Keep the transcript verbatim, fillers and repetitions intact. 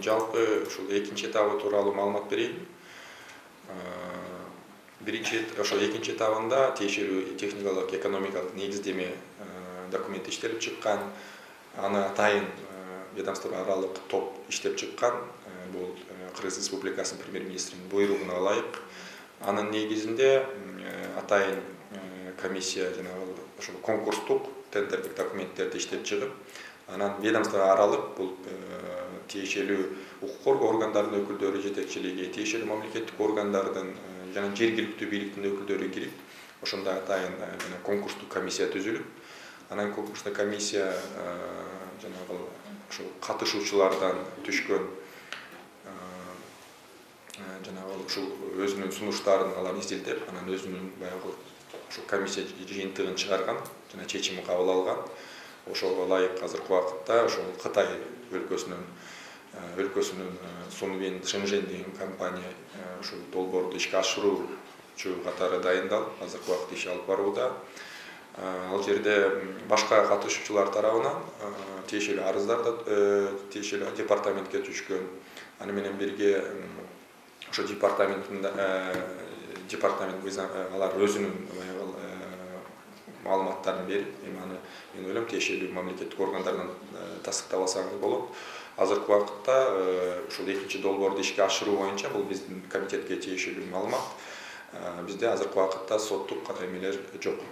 жалпы ушул экинчи этабы тууралуу маалымат берейин. Биринчи ошо экинчи этабында тиешелүү техникалык экономикалык негиздеме документи иштелип чыккан. Аны атайын ведомство аралык топ иштеп чыккан. Бул Кыргыз Республикасынын премьер-министринин буйругуна ылайык. Анын негизинде атайын комиссия жанагы ошол конкурстук тендердик документтерди иштеп чыгып, анан ведомство аралык бул тиешелүү укук коргоо органдарынын өкүлдөрү жетекчилиги, тиешелүү мамлекеттик органдардын жана жергиликтүү бийликтин өкүлдөрү кирип, ошондо атайын конкурстук комиссия түзүлүп, анан конкурстук комиссия жанагы ошол катышуучулардан түшкөн жанагы ушул өзүнүн сунуштарын алар изилдеп, анан өзүнүн баягы ошол комиссия жыйынтыгын чыгарган жана чечим кабыл алган. Ошого ылайык азыркы убакытта ошол Кытай өлкөсүнүн өлкөсүнүн Сунвин Шэньжэнь деген компания ушул долбоорду ишке ашыруучу катары дайындалып, азыркы убакытта иш алып барууда. Ал жерде башка катышуучулар тарабынан тиешелүү арыздар да тиешелүү департаментке түшкөн. Аны менен бирге ошо департаменттин департамент алар өзүнүн маалыматтарын берип, эми аны мен ойлойм тиешелүү мамлекеттик органдардан тастыктап алсаңыз болот. Азыркы убакытта ушул экинчи долбоорду ишке ашыруу боюнча бул биздин комитетке тиешелүү маалымат. Бизде азыркы убакытта соттук эмелер жок.